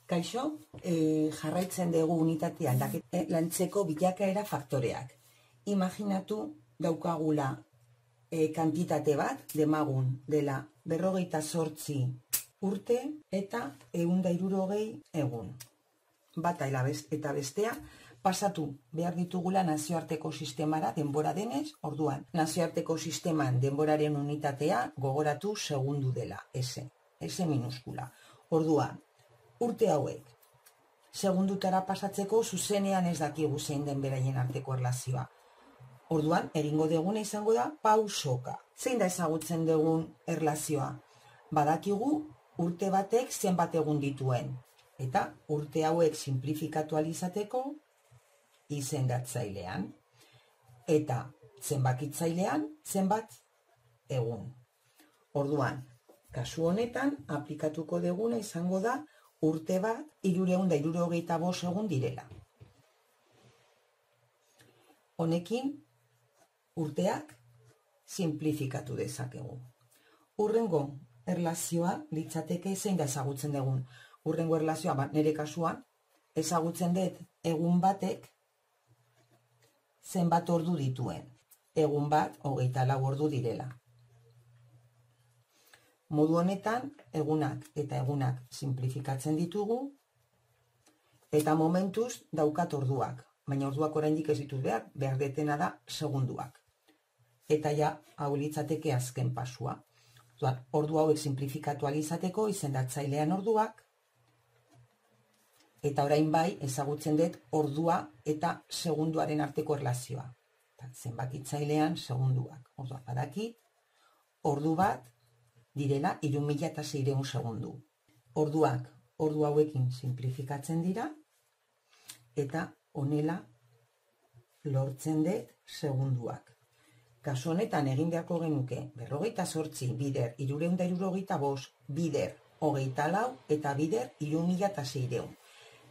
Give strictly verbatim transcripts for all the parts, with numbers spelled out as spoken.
Kaixo, e, jarraitzen dugu unitate aldaketa lantzeko bilakaera faktoreak. Imaginatu daukagula e, kantitate bat, demagun dela berrogeita zortzi urte eta ehun eta hirurogei egun. Bata eta bestea pasatu behar ditugula nazioarteko sistemara denbora denez, orduan nazioarteko sisteman denboraren unitatea gogoratu segundu dela, S, S minuskula. Orduan, urte hauek, segundutara pasatzeko zuzenean ez dakigu zein den beraien arteko erlazioa. Orduan, egingo deguna izango da pausoka. Zein da ezagutzen dugun erlazioa? Badakigu urte batek zenbat egun dituen. Eta urte hauek simplifikatu alizateko izendatzailean. Eta zenbakitzailean zenbat egun. Orduan, kasu honetan aplikatuko deguna izango da urte bat hirurehun eta hirurogeita bost egun direla. Honekin urteak simplifikatu dezakegu. Hurrengo erlazioa litzateke zein da ezagutzen dugun. Hurrengo erlazioa, ba, nire kasuan, ezagutzen dut egun batek zenbat ordu dituen. Egun bat hogeita lau ordu direla. Modu honetan, egunak eta egunak simplifikatzen ditugu, eta momentuz daukat orduak. Baina orduak oraindik ez ditut behar, behar detena da segunduak. Eta ja, hau litzateke azken pasua. Ordu hauek simplifikatu alizateko izendatzailean orduak, eta orain bai ezagutzen dut ordua eta segunduaren arteko erlazioa. Zenbakitzailean segunduak. Orduak badakit, ordu bat direla hiru mila seiehun segundu. Orduak, ordu hauekin simplifikatzen dira, eta honela lortzen dut segunduak. Kasu honetan egin beharko genuke berrogeita zortzi bider hirurehun eta hirurogeita bost, bider hogeita lau eta bider hiru mila seiehun.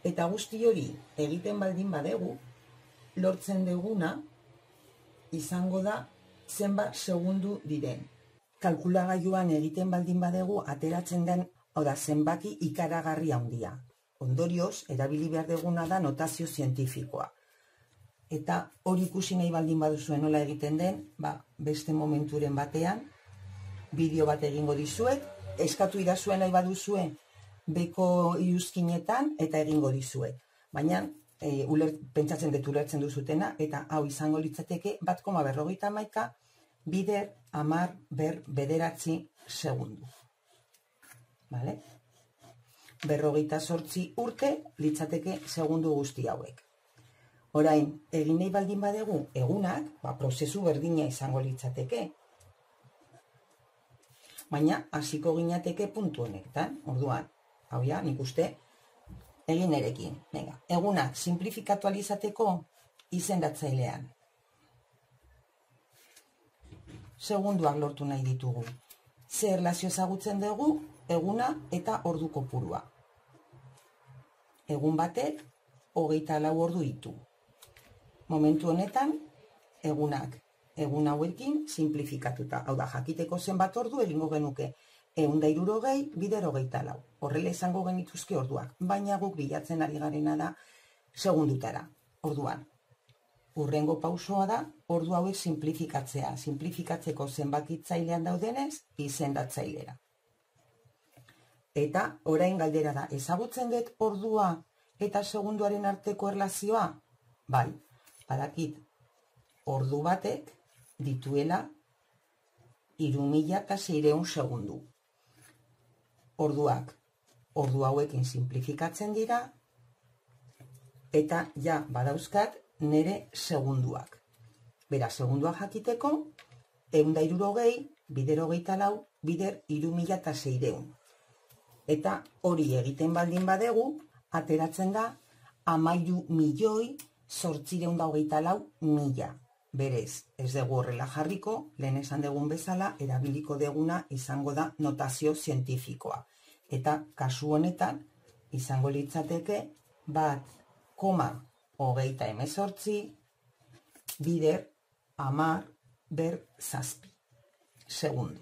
Eta guzti hori egiten baldin badegu, lortzen duguna izango da zenbat segundu diren. Kalkulagailuan egiten baldin badegu ateratzen den, hau da, zenbaki ikaragarri handia. Ondorioz, erabili behar duguna da notazio zientifikoa. Eta hori ikusi nahi baldin baduzuen nola egiten den, ba, beste momenturen batean, bideo bat egingo dizuet, eskatu idazuen nahi baduzuen beko iruzkinetan eta egingo dizuet. Baina, e, uler, pentsatzen dut ulertzen duzutena, eta hau izango litzateke bat koma berrogeita hamaika bider hamar ber bederatzi segundu. Vale? Berrogeita zortzi urte litzateke segundu guzti hauek. Orain, egin nahi baldin badegu egunak, ba, prozesu berdina izango litzateke. Baina, hasiko ginateke puntu honetan. Orduan, hau ja, nik uste, egin erekin. Venga, egunak simplifikatu alizateko izendatzailean. Segunduak lortu nahi ditugu. Ze erlazio ezagutzen dugu, eguna eta ordu kopurua. Egun batek, hogeita lau ordu ditu. Momentu honetan, egunak, egun hauekin simplifikatuta. Hau da, jakiteko zenbat ordu egingo genuke. Ehun eta hirurogei bider hogeita lau. Horrela izango genituzke orduak. Baina guk bilatzen ari garena da segundutara. Orduan, hurrengo pausoa da, ordu hauek simplifikatzea. Simplifikatzeko zenbakitzailean daudenez, izendatzailera. Eta orain galdera da, ezagutzen dut ordua eta segunduaren arteko erlazioa? Bai, badakit, ordu batek dituela hiru mila seiehun segundu. Orduak, ordu hauekin simplifikatzen dira, eta ja badauzkat nire segunduak. Bera, segunduak jakiteko, ehun eta hirurogei bider hogeita lau bider hiru mila seiehun. Eta hori egiten baldin badegu, ateratzen da hamairu milioi zortziehun eta hogeita lau mila. Berez, ez dugu horrela jarriko, lehen esan dugun bezala, erabiliko deguna izango da notazio zientifikoa. Eta kasu honetan, izango litzateke, bat koma hogeita hemezortzi bider hamar ber zazpi segundu.